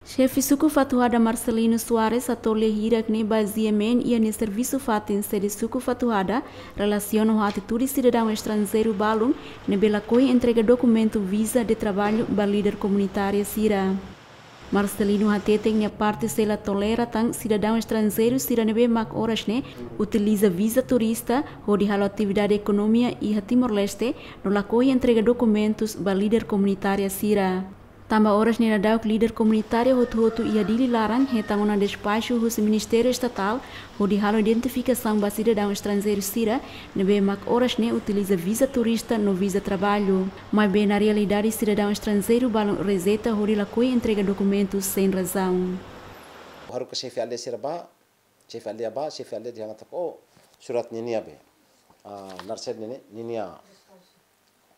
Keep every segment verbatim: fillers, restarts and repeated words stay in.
Xefe Suku Fatuhada Marcelino Soares hato'o lia hirak ne'e ba GMN iha nia servisu fatin sede Suku Fatuhada relasiona ho atitude sidadaun estranjeiru balun ne'ebé lakohi entrega dokumentu viza de traballu ba líder komunitária sira. Marcelino hateten nia parte sei la tolera tan sidadaun estranjeiru sira ne'ebé mak oras ne'e utiliza viza turista hodi halo atividade ekonomia iha Timor-Leste no lakohi entrega dokumentus ba líder komunitária sira. Tanba oras ne'e daudaun líder komunitária hotu-hotu iha Dili laran hetan ona despaxu husi Ministériu Estatál hodi halo identifikasaun ba sidadaun estranjeiru sira ne'ebé mak oras ne'e utiliza viza turista no viza traballu. Maibé na realidade sidadaun estranjeiru balun rejeita hodi lakohi entrega dokumentus sein razaun. Haruka xefe aldeia sira bá, xefe aldeia bá, xefe aldeia dehan katak, "Oh, surat ninia be. Ah, naran sira ninia, ninia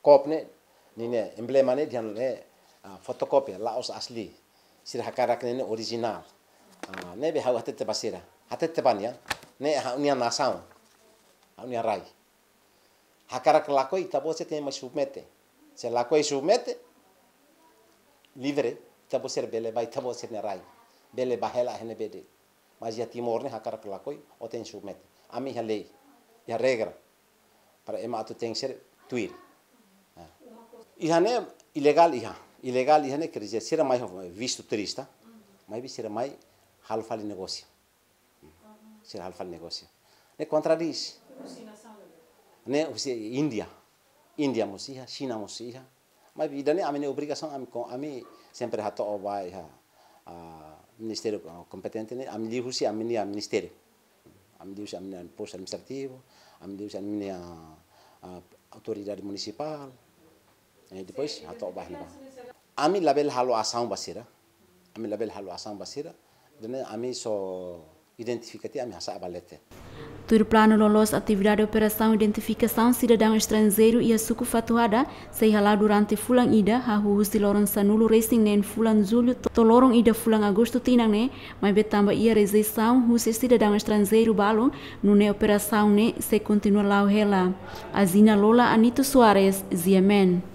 kópia ne'e, ninia emblema ne'e dehan ne'e, ah, fotokópia, la'ós asli. Sira hakarak ne'e, ne'e orijinál." Ah, ne'ebé ha'u hatete ba sira. Hatete ba nia, ne'e ha'u-nia nasaun. Ha'u-nia rai. Hakarak lakohi, ita-boot sira tenke mai submete. Se lakohi submete, livre, ita-boot sira bele bá, ita-boot sira-nia rai. Bele bá hela iha ne'ebé de'it. Mas iha Timor ne'e hakarak lakohi, ó tenke submete. Ami iha lei, iha regra. Para ema atu tenke ser tuir. Ah. Iha ne'e ilegál iha. Ilegál iha ne'e quer dizer, sira mai ho vistu turista. Maibé sira mai halo fali negósiu. Sira halo fali negósiu. Ne'e kontradís. Ne'e husi Índia. Índia mós iha, Xina mós iha. Maibé ida-ne'e ami-nia obrigasaun, ami ko-, ami sempre hato'o ba iha, ah, ministériu, ah, kompetente ne'e, ami liuhusi ami-nia ministériu. Ami liuhusi ami-nia postu administrativu, ami liuhusi ami-nia, ah, autoridade munisipál. Eh, depois hato'o ba iha ne'ebá. Ami labele halo asaun ba sira. Ami labele halo asaun ba sira. Ida-ne'e ami só identifika tiha, ami hasa'e ba leten. Tuir planu loloos, atividade operasaun identifikasaun sidadaun estranjeiru iha Suku Fatuhada sei hala'o durante fulan ida, hahú husi loron sanulu-resin-neen fulan Jullu to-, to'o loron ida fulan Agostu tinan ne'e, maibé tanba iha rejeisaun husi sidadaun estranjeiru balun, nune'e operasaun ne'e sei kontinua la'o hela. Azina Lola, Anito Soares, GMN.